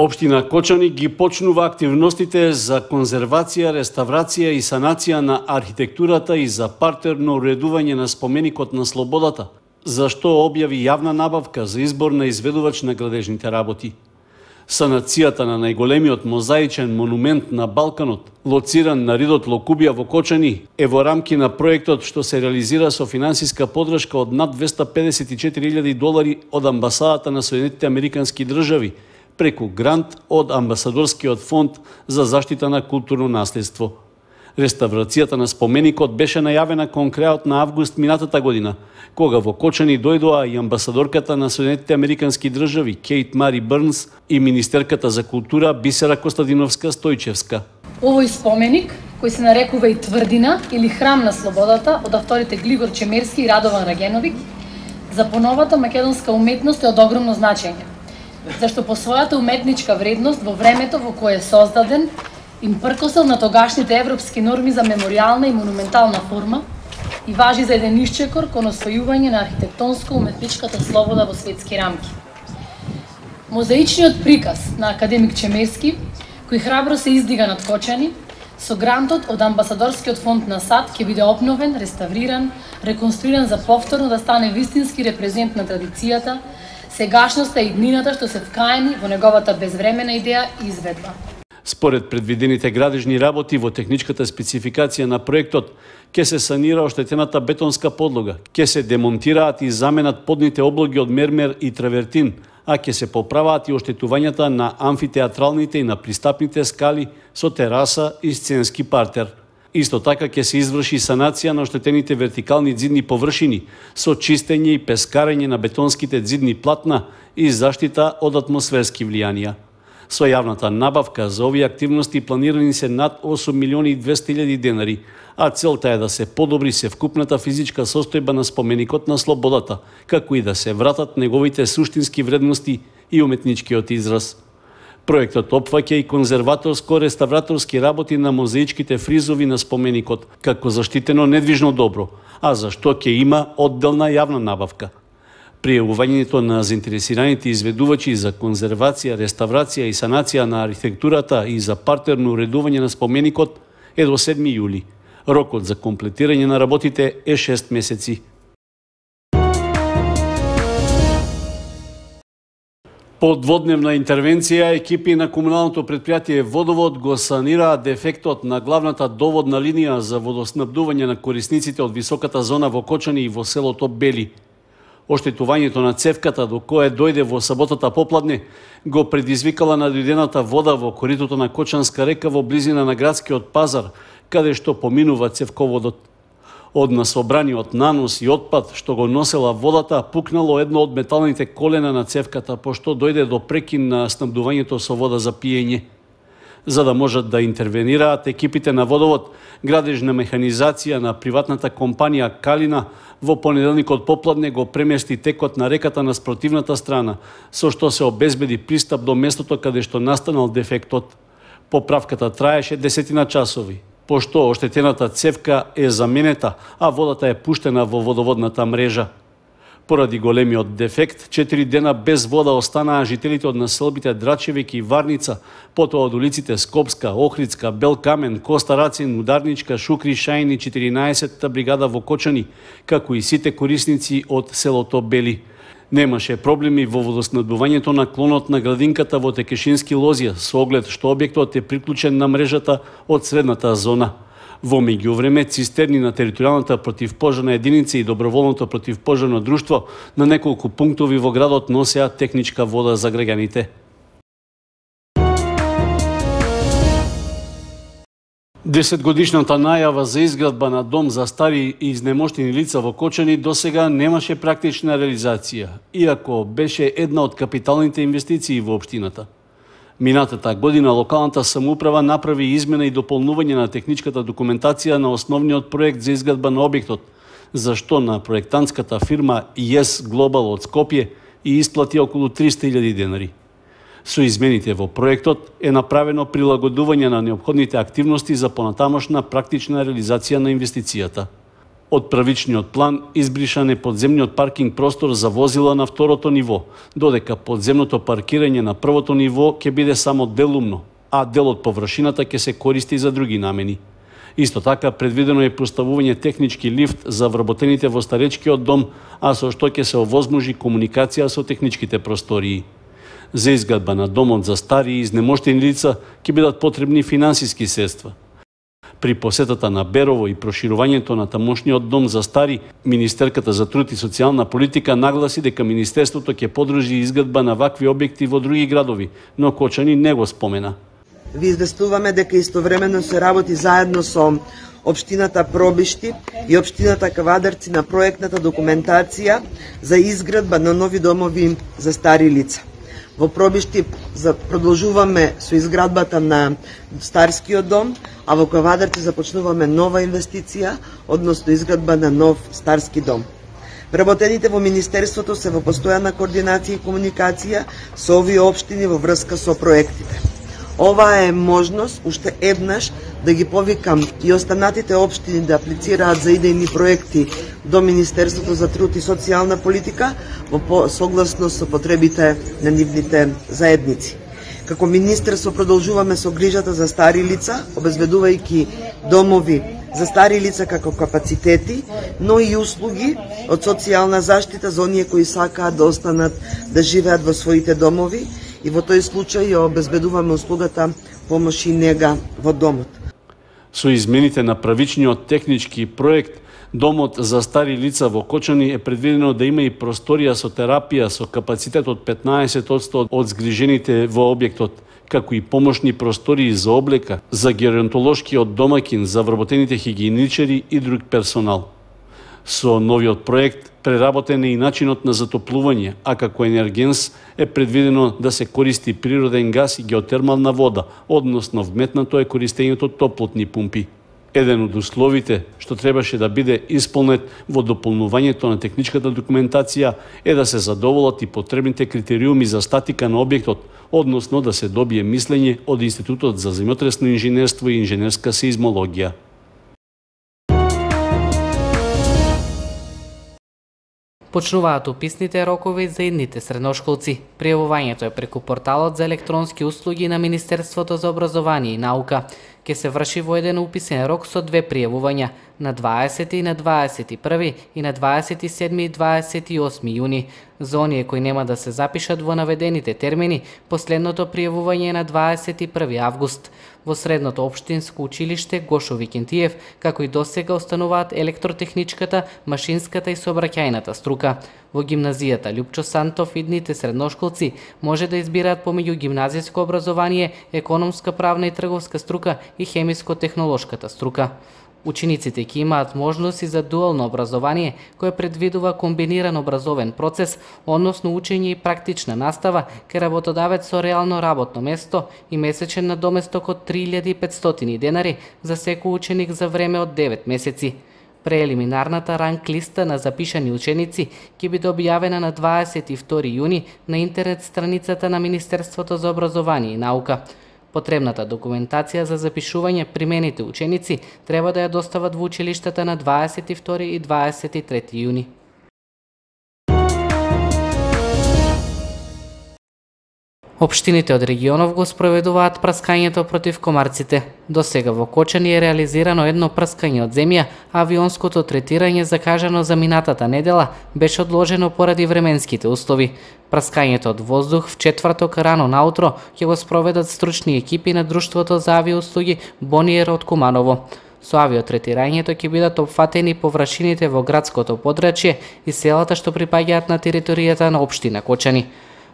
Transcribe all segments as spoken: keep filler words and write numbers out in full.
Општина Кочани ги почнува активностите за конзервација, реставрација и санација на архитектурата и за партерно уредување на споменикот на слободата, за што објави јавна набавка за избор на изведувач на градежните работи. Санацијата на најголемиот мозаичен монумент на Балканот, лоциран на ридот Локубија во Кочани, е во рамки на проектот што се реализира со финансиска подршка од над двесте педесет и четири илјади долари од амбасадата на Соединетите Американски држави, преку грант од Амбасадорскиот фонд за заштита на културно наследство. Реставрацијата на споменикот беше најавена кон крајот на август минатата година, кога во Кочани дојдоа и амбасадорката на Соединетите Американски држави Кейт Мари Брнс и министерката за култура Бисера Костадиновска Стојчевска. Овој споменик, кој се нарекува и Тврдина или Храм на слободата од авторите Глигор Чемерски и Радован Рагеновиќ, за поновата македонска уметност е од огромно значење, зашто по својата уметничка вредност во времето во кое е создаден, им пркосел на тогашните европски норми за меморијална и монументална форма и важи за еден исчекор кон освојување на архитектонско-уметничката слобода во светски рамки. Мозаичниот приказ на академик Чемерски, кој храбро се издига над Кочани, со грантот од Амбасадорскиот фонд на САД ќе биде обновен, реставриран, реконструиран за повторно да стане вистински репрезент на традицијата, сегашноста и иднината што се вкаени во неговата безвремена идеја и изведба. Според предвидените градежни работи во техничката спецификација на проектот, ќе се санира оштетената бетонска подлога, ќе се демонтираат и заменат подните облоги од мермер и травертин, а ќе се поправаат и оштетувањата на амфитеатралните и на пристапните скали со тераса и сценски партер. Исто така ќе се изврши санација на оштетените вертикални ѕидни површини со чистење и пескарење на бетонските ѕидни платна и заштита од атмосферски влијанија. Со јавната набавка за овие активности планирани се над осум милиони и двесте илјади денари, а целта е да се подобри севкупната физичка состојба на споменикот на слободата, како и да се вратат неговите суштински вредности и уметничкиот израз. Проектот опфаќа и конзерваторско-реставраторски работи на мозаичките фризови на споменикот, како заштитено недвижно добро, а за што ќе има одделна јавна набавка. Пријавувањето на заинтересираните изведувачи за конзервација, реставрација и санација на архитектурата и за партерно уредување на споменикот е до седми јули. Рокот за комплетирање на работите е шест месеци. По дводневна интервенција, екипи на комуналното предпријатие Водовод го санираа дефектот на главната доводна линија за водоснабдување на корисниците од високата зона во Кочани и во селото Бели. Оштетувањето на цевката до кое дојде во саботата попладне го предизвикала надојдената вода во коритото на Кочанска река во близина на градскиот пазар, каде што поминува цевководот. Од насобраниот нанос и отпад што го носела водата, пукнало едно од металните колена на цевката, пошто дојде до прекин на снабдувањето со вода за пиење. За да можат да интервенираат екипите на Водовод, градежна механизација на приватната компанија Калина во понеделникот попладне го премести текот на реката на спротивната страна, со што се обезбеди пристап до местото каде што настанал дефектот. Поправката траеше десетина часови, пошто оштетената цевка е заменета, а водата е пуштена во водоводната мрежа. Поради големиот дефект, четири дена без вода останаа жителите од населбите Драчевик и Варница, потоа од улиците Скопска, Охридска, Белкамен, Коста Рацин, Ударничка, Шукри, Шајн и четиринаесеттата бригада во Кочани, како и сите корисници од селото Бели. Немаше проблеми во водоснабдувањето на клонот на градинката во Текешински Лозија, со оглед што објектот е приклучен на мрежата од средната зона. Во меѓувреме, цистерни на територијалната противпожарна единица и доброволното противпожарно друштво на неколку пунктови во градот носеа техничка вода за граѓаните. Десетгодишната најава за изградба на дом за стари и изнемоштени лица во Кочани досега немаше практична реализација, иако беше една од капиталните инвестиции во општината. Минатата година локалната самоуправа направи измена и дополнување на техничката документација на основниот проект за изградба на објектот, за што на проектантската фирма Yes Global од Скопје и исплати околу триста илјади денари. Со измените во проектот е направено прилагодување на неопходните активности за понатамошна практична реализација на инвестицијата. Од правичниот план избришан е подземниот паркинг простор за возила на второто ниво, додека подземното паркирање на првото ниво ќе биде само делумно, а дел од површината ќе се користи за други намени. Исто така, предвидено е поставување технички лифт за вработените во старечкиот дом, а со што ќе се овозможи комуникација со техничките простории. За изградба на домот за стари и изнемоштени лица ќе бидат потребни финансиски средства. При посетата на Берово и проширувањето на тамошниот дом за стари, Министерката за труд и социјална политика нагласи дека Министерството ќе подржи изградба на вакви објекти во други градови, но Кочани не го спомена. Ви известуваме дека истовремено се работи заедно со Општината Пробишти и Општината Кавадарци на проектната документација за изградба на нови домови за стари лица. Во Пробишти продолжуваме со изградбата на старскиот дом, а во Кавадарци започнуваме нова инвестиција, односно изградба на нов старски дом. Вработените во Министерството се во постојана координација и комуникација со овие општини во врска со проектите. Ова е можност уште еднаш да ги повикам и останатите општини да аплицираат за идејни проекти до Министерството за труд и социјална политика во согласност со потребите на нивните заедници. Како министерство продолжуваме со грижата за стари лица, обезбедувајќи домови за стари лица како капацитети, но и услуги од социјална заштита за оние кои сакаат да останат да живеат во своите домови, и во тој случај ја обезбедуваме услугата помош и нега во домот. Со измените на правичниот технички проект, домот за стари лица во Кочани е предвидено да има и просторија со терапија со капацитет од петнаесет одсто од згрижените во објектот, како и помошни простории за облека, за геронтолошкиот домаќин, за вработените хигиеничари и друг персонал. Со новиот проект преработен е и начинот на затоплување, а како енергенс е предвидено да се користи природен газ и геотермална вода, односно вметнато е користењето топлотни пумпи. Еден од условите што требаше да биде исполнет во дополнувањето на техничката документација е да се задоволат и потребните критериуми за статика на објектот, односно да се добие мислење од Институтот за земјотресно инженерство и инженерска сеизмологија. Почнуваат уписните рокови за идните средношколци. Пријавувањето е преку порталот за електронски услуги на Министерството за образование и наука. Ке се врши во еден уписен рок со две пријавувања, на дваесети и на дваесет и први и на дваесет и седми и дваесет и осми јуни. За оние кои нема да се запишат во наведените термини, последното пријавување е на дваесет и први август. Во средното општинско училиште Гошо Викентиев, како и досега, остануваат електротехничката, машинската и сообраќајната струка. Во гимназијата Љупчо Сантов идните средношколци може да избираат помеѓу гимназиско образование, економска, правна и трговска струка и хемиско-технолошката струка. Учениците ќе имаат можности за дуално образование, кое предвидува комбиниран образовен процес, односно учење и практична настава кај работодавец со реално работно место и месечен надоместок од три илјади и петстотини денари за секој ученик за време од девет месеци. Преелиминарната ранг листа на запишани ученици ќе биде објавена на дваесет и втори јуни на интернет страницата на Министерството за образование и наука. Потребната документација за запишување примените ученици треба да ја достават во училиштата на дваесет и втори и дваесет и трети јуни. Општините од регионов го спроведуваат праскањето против комарците. До сега во Кочани е реализирано едно праскање од земја, а авионското третирање закажано за минатата недела беше одложено поради временските услови. Праскањето од воздух в четврток рано наутро ќе го спроведат стручни екипи на Друштвото за авиоуслуги Бониер од Куманово. Со авиотретирањето ќе бидат опфатени површините во градското подрачје и селата што припаѓаат на територијата на општина Кочани.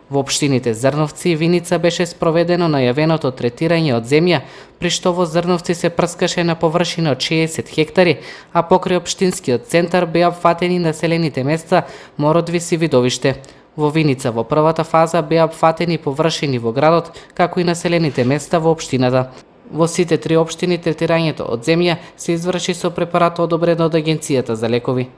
Во општините Зрновци и Виница беше спроведено најавеното третирање од земја, при што во Зрновци се прскаше на површина од шеесет хектари, а покрај општинскиот центар беа опфатени населените места Мородвис и Видовиште. Во Виница во првата фаза беа опфатени површини во градот, како и населените места во општината. Во сите три општини третирањето од земја се изврши со препарат одобрен од Агенцијата за лекови.